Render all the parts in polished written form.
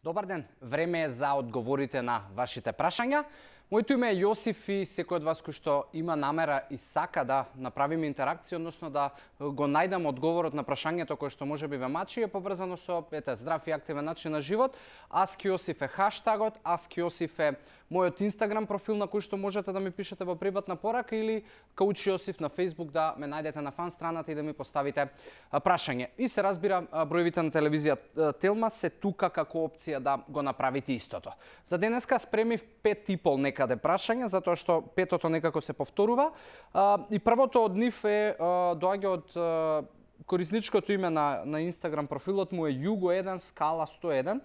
Добар ден, време е за одговорите на вашите прашања. Моето име е Јосиф и секој од вас кој што има намера и сака да направиме интеракција, односно да го најдам одговорот на прашањето кое што можеби ве мачи, е поврзано со здрав и активен начин на живот. #Јосиф е хаштагот, #Јосиф е мојот Инстаграм профил на кој што можете да ми пишете во приватна порака или Коуч Јосиф на Facebook да ме најдете на фан страната и да ми поставите прашање. И се разбира, броевите на телевизија Телма се тука како опција да го направите истото. За денеска спремив 5,5 некаде прашања, затоа што петото некако се повторува. И првото од нив доаѓа од корисничкото име на Инстаграм профилот му е Jugo1 Skala 101.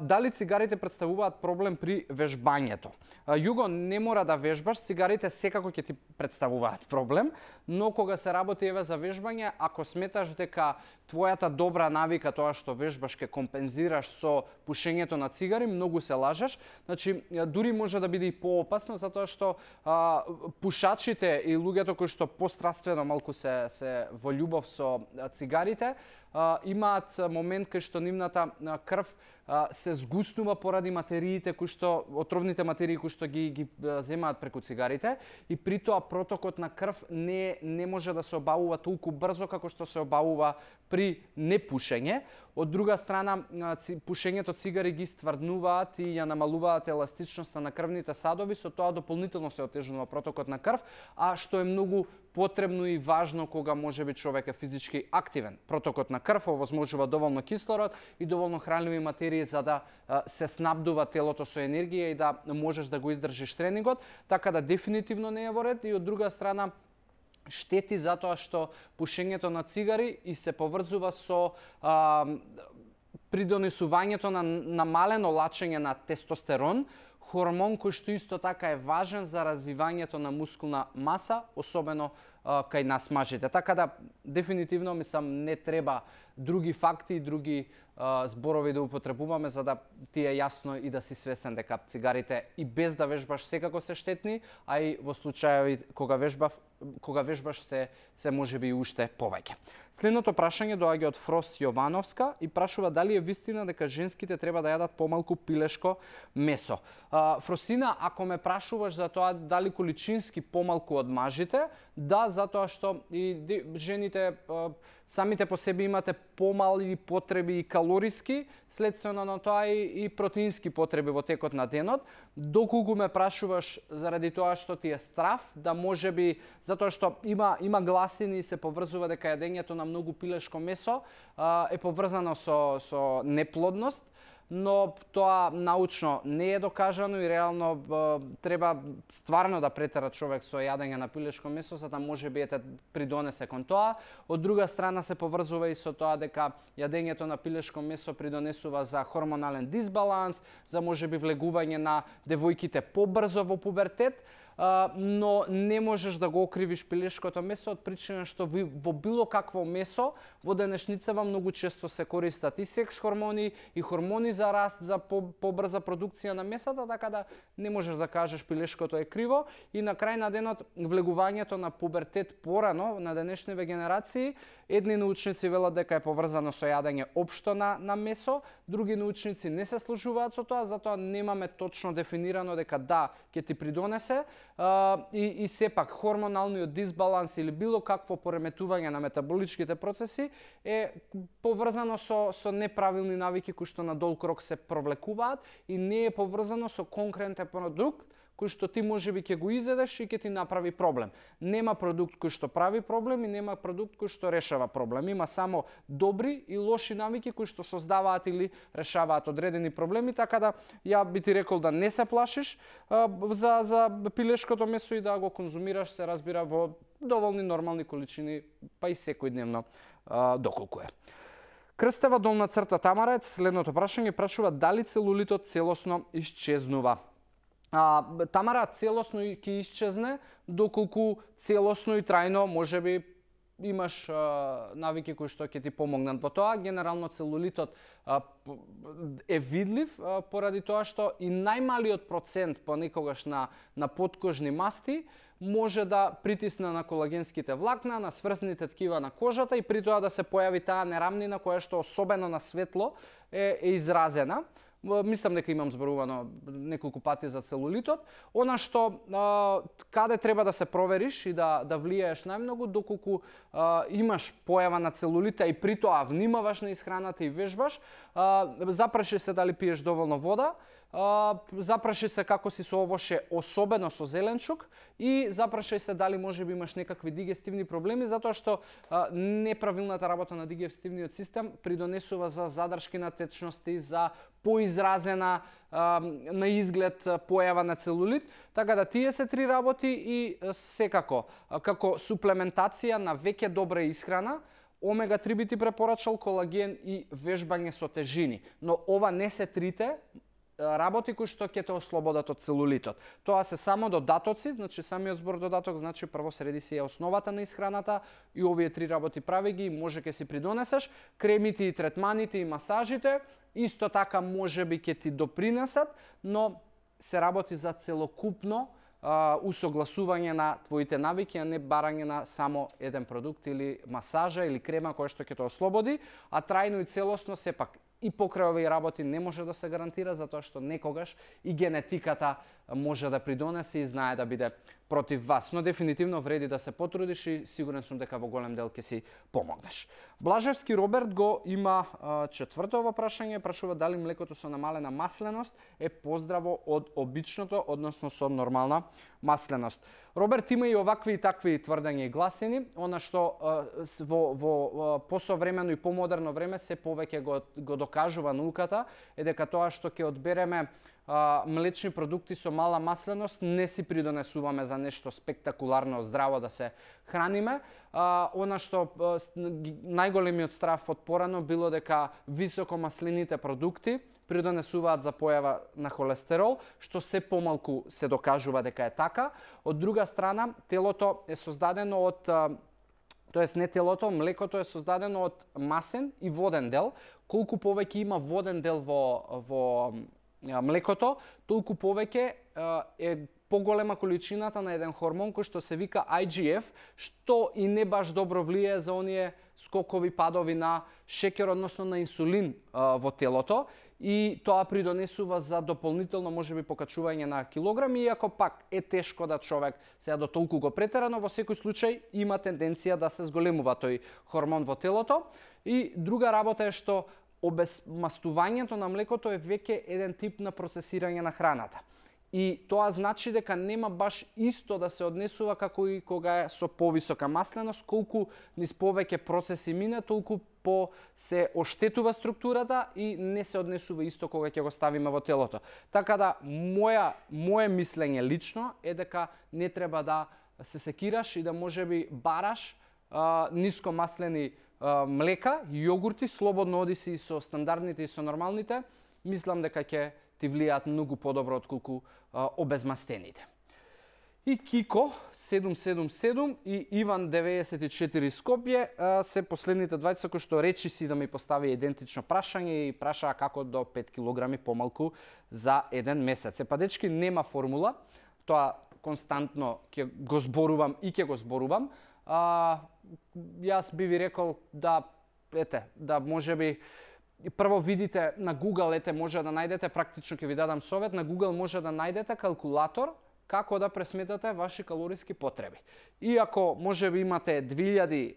Дали цигарите представуваат проблем при вежбањето? Југо, не мора да вежбаш, цигарите секако ќе ти представуваат проблем, но кога се работи еве за вежбање, ако сметаш дека твојата добра навика, тоа што вежбаш, ќе компензираш со пушењето на цигари, многу се лажеш. Значи, дури може да биде и поопасно, затоа што пушачите и луѓето кои што постраствено малку се во љубов со цигарите, имаат момент кај што нивната крв се згуснува поради материите кои што отровните материи кои што ги земаат преку цигарите и при тоа протокот на крв не може да се обавува толку брзо како што се обавува при непушење. Од друга страна, пушењето цигари ги стврднуваат и ја намалуваат еластичноста на крвните садови, со тоа дополнително се отежнува протокот на крв, а што е многу потребно и важно кога можеби човек е физички активен. Протокот на крв овозможува доволно кислород и доволно хранливи материи за да се снабдува телото со енергија и да можеш да го издржиш тренингот, така да дефинитивно не е во ред. И од друга страна, штети затоа што пушењето на цигари и се поврзува со придонесувањето на намалено лачење на тестостерон, хормон кој што исто така е важен за развивањето на мускулна маса, особено кај нас мажите. Така да, дефинитивно, мислам, не треба други факти и други зборови да употребуваме за да ти е јасно и да си свесен дека цигарите и без да вежбаш секако се штетни, а и во случајови кога вежбаш се можеби и уште повеќе. Следното прашање доаѓа од Фрос Јовановска и прашува дали е вистина дека женските треба да јадат помалку пилешко месо. Фросина, ако ме прашуваш за тоа дали количински помалку од мажите, да, затоа што и жените самите по себе имате помали потреби и калориски, следствено на тоа и протеински потреби во текот на денот. Доколку ме прашуваш заради тоа што ти е страв, да можеби затоа што има гласини и се поврзува дека јадењето на многу пилешко месо е поврзано со неплодност, но тоа научно не е докажано и реално треба стварно да претера човек со јадење на пилешко месо за да можеби придонесе кон тоа. Од друга страна се поврзува и со тоа дека јадењето на пилешко месо придонесува за хормонален дисбаланс, за можеби влегување на девојките побрзо во пубертет, но не можеш да го окривиш пилешкото месо од причина што во било какво месо во денешницава многу често се користат и секс хормони и хормони за раст, за побрза продукција на месата, така да не можеш да кажеш пилешкото е криво. И на крај на денот влегувањето на пубертет порано на денешниве генерации, едни научници велат дека е поврзано со јадење општо на месо, други научници не се служуваат со тоа, затоа немаме точно дефинирано дека да, ќе ти придонесе. И сепак хормоналниот дисбаланс или било какво пореметување на метаболичките процеси е поврзано со неправилни навики кои што на долг рок се провлекуваат и не е поврзано со конкретен продукт кој што ти можеби ќе го изедеш и ќе ти направи проблем. Нема продукт кој што прави проблем и нема продукт кој што решава проблем. Има само добри и лоши навики кои што создаваат или решаваат одредени проблеми, така да ја би ти рекол да не се плашиш за пилешкото месо и да го конзумираш, се разбира, во доволни нормални количини, па и секојдневно доколку е. Крстева долна црта Тамара, следното прашање прашува дали целулитот целосно исчезнува. Тамара, целосно ќе исчезне доколку целосно и трајно можеби имаш навики кои што ќе ти помогнат во тоа. Генерално целулитот е видлив поради тоа што и најмалиот процент понекогаш на подкожни масти може да притисне на колагенските влакна, на сврзаните ткива на кожата и при тоа да се појави таа нерамнина која што особено на светло е изразена. Мислам дека имам зборувано неколку пати за целулитот. Она што каде треба да се провериш и да влијаеш најмногу доколку имаш појава на целулита и при тоа внимаваш на исхраната и вежбаш, запраши се дали пиеш доволно вода, запраши се како си со овоше, особено со зеленчук, и запрашај се дали можеби имаш некакви дигестивни проблеми, затоа што неправилната работа на дигестивниот систем придонесува за задршки на течности, за поизразена на изглед појава на целулит, така да тие се три работи и секако како суплементација на веќе добра исхрана, омега-3 би ти препорачал, колаген и вежбање со тежини. Но ова не се трите работи кои што ќе те ослободат од целулитот. Тоа се само додатоци, значи самиот збор додаток, значи прво среди си е основата на исхраната и овие три работи прави ги, може ќе си придонесеш. Кремите и третманите и масажите исто така можеби ќе ти допринесат, но се работи за целокупно усогласување на твоите навики, а не барање на само еден продукт или масажа или крема која што ќе те ослободи, а трајно и целосно сепак и покрај овие работи не може да се гарантира, затоа што некогаш и генетиката може да придонесе и знае да биде против вас. Но дефинитивно вреди да се потрудиш и сигурен сум дека во голем дел ќе си помогнеш. Блажевски Роберт го има четвртото прашање, прашува дали млекото со намалена масленост е поздраво од обичното, односно со нормална масленост. Роберт, има и овакви и такви тврдења и гласини, она што во посовремено и помодерно време се повеќе го докажува науката, е дека тоа што ќе одбереме млечни продукти со мала масленост не си придонесуваме за нешто спектакуларно здраво да се храниме. Она што најголемиот страф од порано било дека високо маслените продукти придонесуваат за појава на холестерол, што се помалку се докажува дека е така. Од друга страна, телото е создадено од тоест не телото, млекото е создадено од масен и воден дел. Колку повеќе има воден дел во млекото, толку повеќе е поголема количината на еден хормон кој што се вика IGF, што и не баш добро влијае за оние скокови падови на шеќер, односно на инсулин во телото, и тоа придонесува за дополнително можеби покачување на килограми, иако пак е тешко да човек сега до толку го претера, но во секој случај има тенденција да се зголемува тој хормон во телото. И друга работа е што обезмастувањето на млекото е веќе еден тип на процесирање на храната. И тоа значи дека нема баш исто да се однесува како и кога е со повисока масленост, колку низ повеќе процеси мине, толку по се оштетува структурата и не се однесува исто кога ќе го ставиме во телото. Така да моje мислење лично е дека не треба да се секираш и да можеби бараш ниско маслени млека, јогурти, слободно оди си со стандардните и со нормалните, мислам дека ќе ти влијаат многу подобро отколку обезмастените. И Кико 777 и Иван 94 Скопје се последните двајца кои што речи си да ми постави идентично прашање и прашаа како до 5 килограми помалку за еден месец. Па дечки, нема формула, тоа константно ќе го зборувам и ќе го зборувам. Јас би ви рекол да можеби прво видите на Google, може да најдете, практично ќе ви дадам совет, на Google може да најдете калкулатор како да пресметате ваши калориски потреби. И ако можеби имате 2000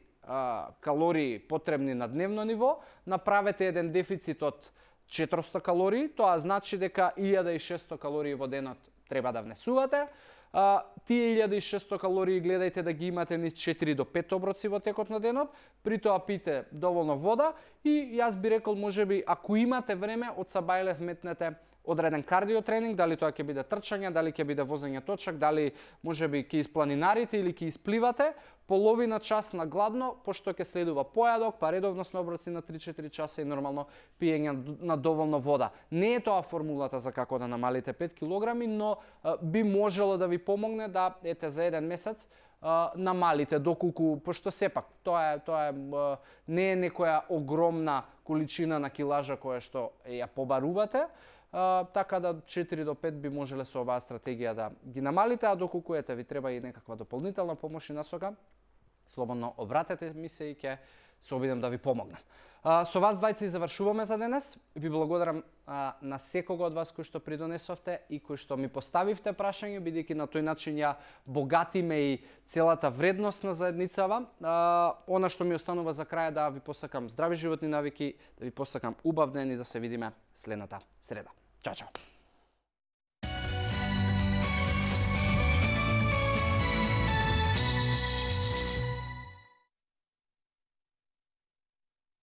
калории потребни на дневно ниво, направете еден дефицит од 400 калории, тоа значи дека 1600 калории во денот треба да внесувате. Тие 1600 калории гледајте да ги имате низ 4 до 5 оброци во текот на денот, при тоа пите доволно вода и јас би рекол можеби ако имате време од сабајле вметнете одреден кардиотренинг, дали тоа ќе биде трчање, дали ќе биде возење точак, дали можеби ќе испланинарите или ќе испливате, половина час на гладно, пошто ќе следува појадок, па редовност на оброци на 3-4 часа и нормално пиење на доволно вода. Не е тоа формулата за како да намалите 5 килограми, но би можело да ви помогне да за еден месец намалите доколку, пошто сепак тоа не е некоја огромна количина на килажа која што ја побарувате, така да 4 до 5 би можеле со оваа стратегија да ги намалите, а доколку ви треба и некаква дополнителна помош и насока, слободно обратете ми се и ќе се обидам да ви помогнам. Со вас двајца и завршуваме за денес. Ви благодарам на секого од вас кој што придонесовте и кој што ми поставивте прашање, бидејќи на тој начин ја богатиме и целата вредност на заедницава. Она што ми останува за крај да ви посакам здрави животни навики, да ви посакам убав ден и да се видиме следната среда. Чао, чао!